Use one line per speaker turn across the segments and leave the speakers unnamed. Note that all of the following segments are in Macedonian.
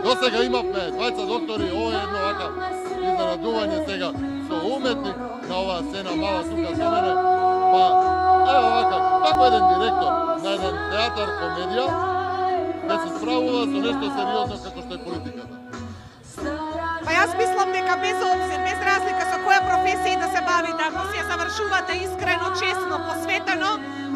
До сега имавме двајца доктори, ова е едно вака изненадување сега со уметник на оваа сцена мала тука со мене. Па ево вака, како еден директор на еден театар комедија да се справува со нешто сериозно како што е политиката.
Па јас мислам дека без обзир, без разлика со која професија да се бавите, ако си ја завршувате искрено, честно, посветено,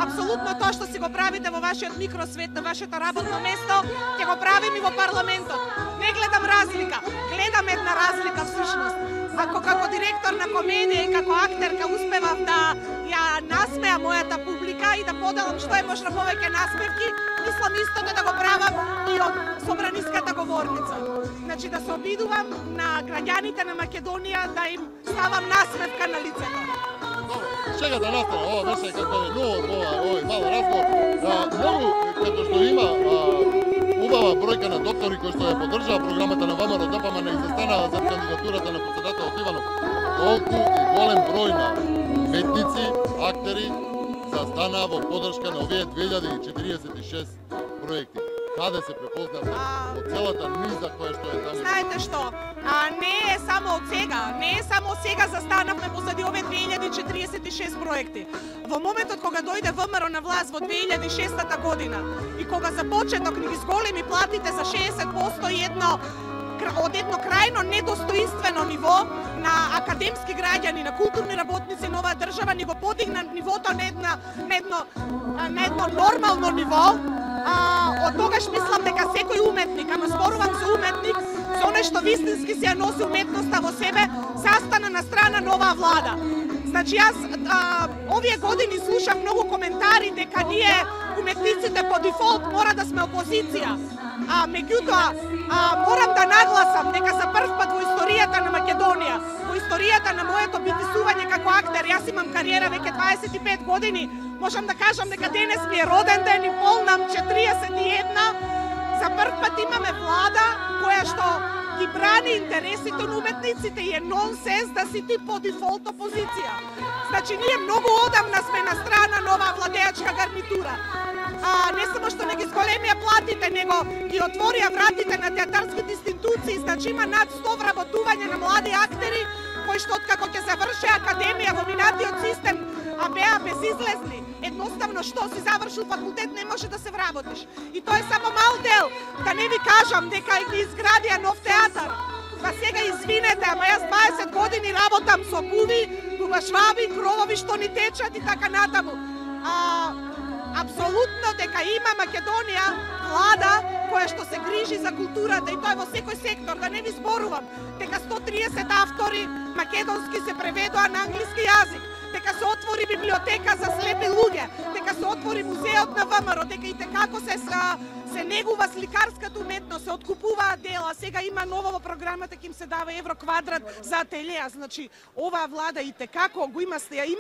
апсолутно тоа што си го правите во вашиот микросвет, на вашето работно место, ќе го правим и во парламентот. Не гледам разлика, гледам една разлика всушност. Ако како директор на комедија и како актерка успевам да ја насмеа мојата публика и да поделам што е можно повеќе насмевки, мислам истото да го правам и од собраниската говорница. Значи да се обидувам на граѓаните на Македонија да им ставам насмевка на лицето.
Чека да настане, ова беше како е овој мал разговор. Многу, като што има убава бројка на доктори кои што ја поддржаа програмата на ВМРО ДПМН и застанаа за кандидатурата на председателот Иванов, толку и голем број на уметници, актери застанаа во поддршка на овие 2046 проекти. Каде се препознавме од целата низа која што е таму?
Знаете што, не е само од сега застанавме позади овие 2046 проекти. Во моментот кога дојде ВМРО на власт во 2006 година и кога за почеток ни ги зголеми платите за 60% и од едно крајно недостоинствено ниво на академски граѓани, на културни работници на оваа држава, ни го подигна нивото на едно нормално ниво. Од тогаш мислам дека секој уметник, ама зборувам за уметник, за оној што вистински се ја носи уметноста во себе, застана на страна на оваа влада. Значи јас овие години слушам многу коментари дека ние уметниците по дефолт мора да сме опозиција. Меѓутоа, морам да нагласам дека за прв пат во историјата на Македонија, во историјата на моето битисување како актер, јас имам кариера веќе 25 години, можам да кажам дека денес ми е роден ден и полнам 41, за прв пат имаме влада која што ги брани интересите на уметниците и е нонсенс да си ти по дефолт опозиција. Значи, ние многу одамна сме на страна на оваа владеачка гарнитура. Не само што не ги зголемија платите, него ги отворија вратите на театарските институции, значи има над 100 вработување на млади актери, кои што откако ќе заврше академија во минатиот систем, беа безизлезни. Едноставно што си завршил факултет не може да се вработиш. И тоа е само мал дел, да не ви кажам дека ги изградија нов театар. Па сега извинете, ама јас 20 години работам со куви, дубашваби, кровови што ни течат и така натаму. Апсолутно дека има Македонија влада која што се грижи за културата и тоа е во секој сектор, да не ви зборувам, дека 130 автори македонски се преведоа на англиски јазик, дека се отвори библиотека за слепи луѓе, дека се отвори музеот на ВМРО, дека и како се негува сликарската уметност, се откупуваат дела, сега има ново во програмата ќе им се дава евро квадрат за ателија. Значи, оваа влада и како го има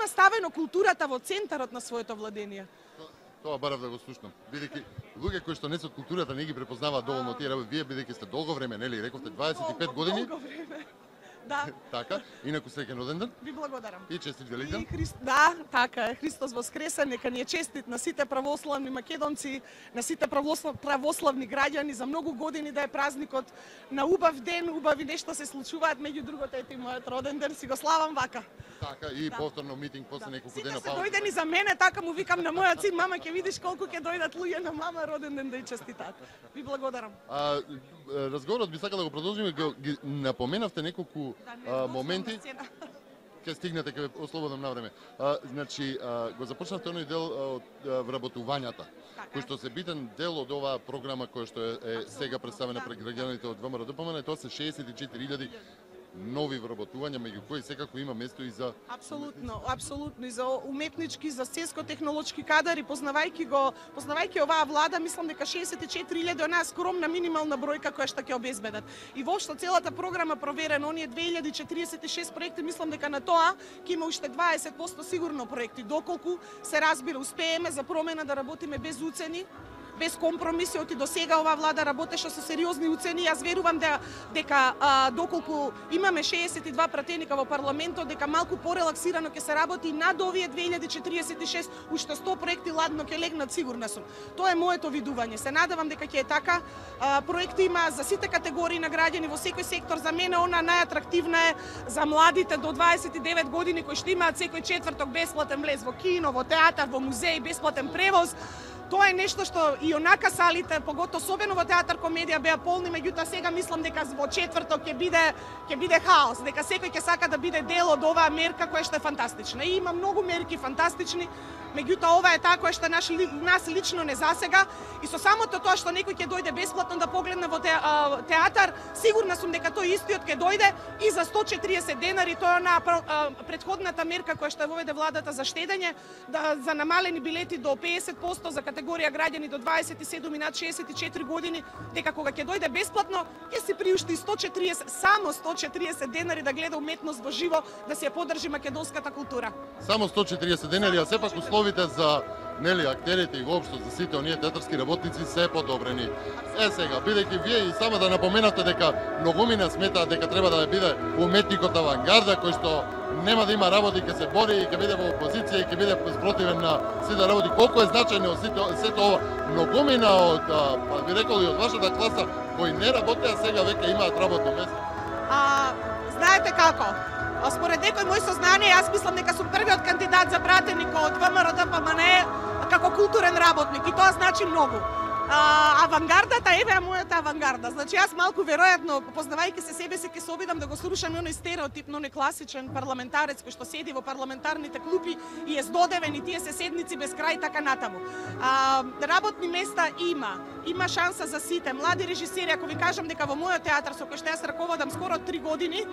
ставено културата во центарот на своето владење.
Тоа барав да го слушнам. Бидејќи луѓе кои што не се од културата не ги препознаваат доволно тие работи, вие бидејќи сте долго време, нели, рековте 25 години.
Долго време. Да.
Така, инаку среќен роден ден.
Ви благодарам.
И честит Великден.
Да, така е. Христос воскресе, нека ни е честит на сите православни македонци, на сите православни граѓани за многу години да е празникот на убав ден, убави нешто се случуваат, меѓу другото ете и мојот роден ден, си го славам вака.
Така, и повторно митинг после неколку дена
пауза. Сите се дојдени за мене, така му викам на мојот син, мама ќе видиш колку ќе дојдат луѓе на мама роден ден да ја честитат. Ви благодарам.
Разговорот би сакал да го продолжиме, ги напоменавте неколку моменти. Ќе стигнете, ќе ве ослободам на време. Значи, го започнавте оној дел од вработувањата, кој што се битен дел од оваа програма која што е сега представена пред граѓаните од ВМРО ДПМН, тоа се 64.000 нови вработувања, меѓу кои секако има место и за...
Апсолутно, и за уметнички, за сельско-технолошки кадар и познавајќи оваа влада, мислам дека 64.000 онаа скромна минимална бројка која што ќе обезбедат. И воопшто целата програма проверена, оние 2046 проекти, мислам дека на тоа ќе има уште 20% сигурно проекти, доколку се разбира, успееме за промена да работиме без уцени, без компромиси, оти до сега оваа влада работеше со сериозни уцени. Јас верувам дека доколку имаме 62 пратеника во парламентот, дека малку порелаксирано ќе се работи над овие 2046, уште 100 проекти ладно ќе легнат, сигурна сум. Тоа е моето видување. Се надевам дека ќе е така. Проекти има за сите категории на граѓани во секој сектор. За мене она најатрактивна е за младите до 29 години кои што имаат секој четврток бесплатен влез во кино, во театар, во музеј, бесплатен превоз. Тоа е нешто што и онака салите, поготово особено во театар комедија, беа полни, меѓутоа сега мислам дека во четврток ќе биде хаос, дека секој ќе сака да биде дел од оваа мерка која што е фантастична. И има многу мерки фантастични, меѓутоа ова е таа која што нас лично не засега, и со самото тоа што некој ќе дојде бесплатно да погледне во театар, сигурна сум дека тој истиот ќе дојде и за 140 денари. Тоа е на претходната мерка која што воведе владата за штедење, за намалени билети до 50% за категорија граѓани до 27 и над 64 години, дека кога ќе дојде бесплатно, ќе си приушти само 140 денари да гледа уметност во живо, да се ја подржи македонската култура.
Само 140 денари, а сепак условите за актерите и воопшто за сите оние театарски работници се подобрени. Сега, бидејќи вие и само да напоменате дека многумина сметаат дека треба да биде уметникот авангарда кој што нема да има работи, ќе се бори и ќе биде во опозиција и ќе биде спротивен на сите работи. Колку е значајно сето ова? Многумина од, би рекол, и од вашата класа кои не работеа сега веќе имаат работно место.
Знаете како? Според некои мои сознание, јас мислам дека сум првиот кандидат за пратеник од ВМРО ДПМНЕ како културен работник, и тоа значи многу. Авангардата, еве мојата авангарда. Значи јас малку веројатно, познавајќи се себе си, ќе се обидам да го срушам оној стереотипно, оној класичен парламентарец кој што седи во парламентарните клупи и е здодевен и тие се седници без крај така натаму. Работни места има шанса за сите. Млади режисери, ако ви кажам дека во мојот театар со кој што јас раководам скоро 3 години,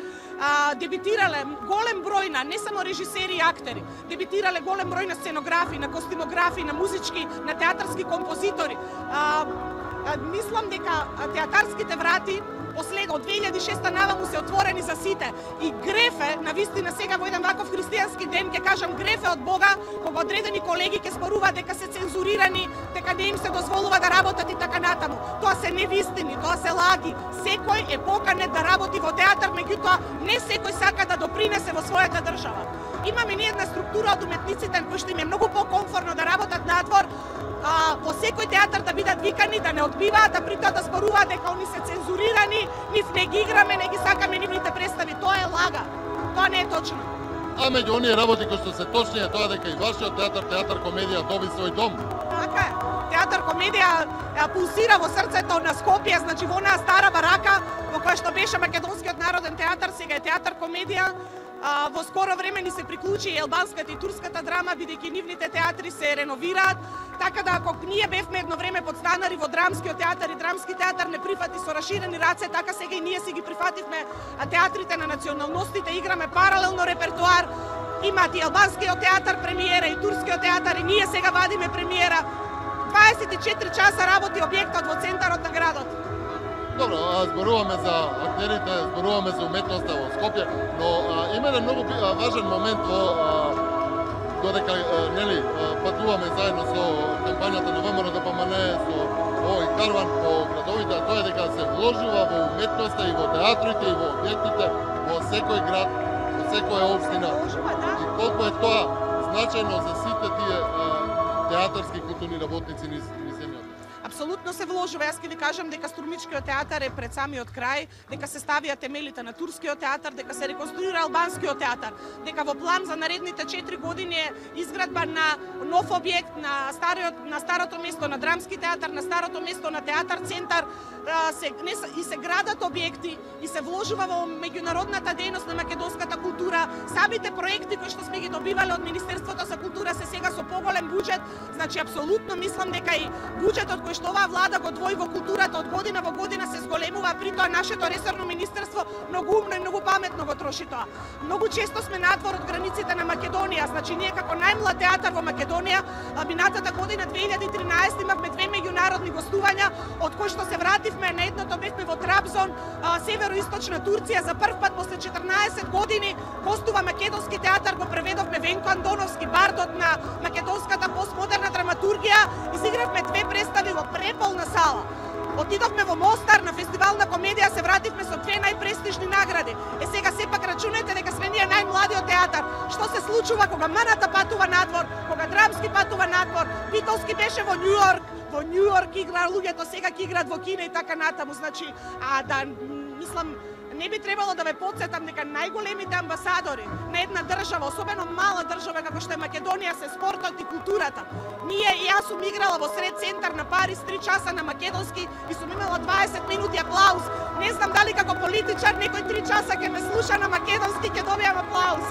дебитирале голем број на не само режисери и актери, дебитирале голем број на сценографи, на костимографи, на музички, на театарски композитори. Мислам дека театарските врати од 2006 наваму се отворени за сите. И грефе, навистина сега во еден ваков христијански ден, ќе кажам грефе од Бога, кога одредени колеги ќе споруваат дека се цензурирани, дека не им се дозволува да работат и така натаму. Тоа се невистини, тоа се лаги. Секој е поканет да работи во театар, меѓутоа не секој сака да допринесе во својата држава. Имаме ние една структура од уметниците кои што им е многу покомфорно да работат надвор, во секој театар да бидат викани, да не одбиваат, да при тоа да зборуваат дека они се цензурирани, нив не ги играме, не ги сакаме нивните представи. Тоа е лага. Тоа не е точно.
А меѓу оние работи кои што се точни е тоа дека и вашиот театар комедија доби свој дом.
Така е. Театар комедија пулсира во срцето на Скопје, значи во онаа стара барака во која што беше Македонскиот народен театар, сега е театар комедија. Во скоро време ни се приклучи и албанската и турската драма, бидејќи нивните театри се реновираат, така да ако ние бевме едно време подстанари во драмскиот театар и драмски театар не прифати со раширени раце, така сега и ние си ги прифативме театрите на националностите, играме паралелно репертоар, имаат и албанскиот театар премиера и турскиот театар, и ние сега вадиме премиера. 24 часа работи објектот во центарот на градот.
Добро, зборуваме за актерите, зборуваме за уметноста во Скопје, но има еден многу важен момент додека патуваме заедно со кампањата на ВМРО ДПМНЕ, со овој карван по градовите, тоа е дека се вложува во уметноста и во театрите и во објектите во секој град, во секоја општина. И колку е тоа значајно за сите тие театарски културни работници низ земјата.
Апсолутно се вложува. Јас ќе ви кажам дека Струмичкиот театар е пред самиот крај, дека се ставија темелите на турскиот театар, дека се реконструира албанскиот театар, дека во план за наредните 4 години е изградба на нов објект на старото место на драмски театар, на старото место на театар центар, и се градат објекти и се вложува во меѓународната дејност на македонската култура. Самите проекти кои што сме ги добивале од Министерството за култура се сега со поголем буџет, значи апсолутно мислам дека и буџетот кој што оваа влада го двои во културата од година во година се зголемува, при тоа нашето ресорно министерство многу умно и многу паметно го троши тоа. Многу често сме надвор од границите на Македонија, значи ние како најмлад театар во Македонија, минатата година 2013 имавме 2 меѓународни гостувања, од кои што се вративме бевме на едното бевме во Трабзон, североисточна Турција, за прв пат после 14 години гостува македонски театар, го преведовме Венко Андоновски, бардот на македонската постмодерна драматургија, изигравме 2 представи во преполна сала. Отидовме во Мостар на фестивал на комедија, се вративме со 2 најпрестижни награди. Сега сепак рачунете дека сме ние најмладиот театар. Што се случува кога Маната патува надвор, кога Драмски патува надвор, Витолски беше во Њу Йорк игра луѓето, сега ќе играат во Кина и така натаму. Значи, мислам, не би требало да ве потсетам дека најголемите амбасадори на една држава, особено мала држава како што е Македонија, се спортот и културата. Јас сум играла во сред центар на Париз 3 часа на македонски и сум имала 20 минути аплауз. Не знам дали како политичар некој 3 часа ќе ме слуша на македонски, ќе добијам аплауз.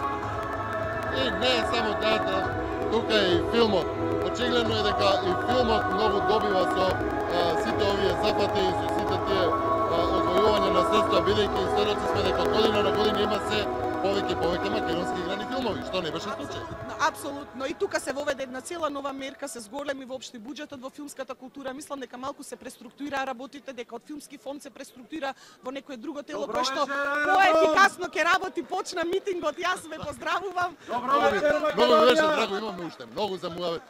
И не е само театар, тука е и филмот. Очигледно е дека и филмот многу добива со сите овие запати и со сите тие одвојување на средства, бидејќи сведоци сме дека година на година има се повеќе македонски играни филмови, што не беше случај.
Апсолутно. И тука се воведе една цела нова мерка, се зголеми воопшто буџетот во филмската култура. Мислам дека малку се преструктурира работите, дека од филмски фонд се преструктурира во некое друго тело кој што поефикасно ќе работи. Почна митингот, јас ве поздравувам.
Многу беше драго, имаме уште многу за муавет.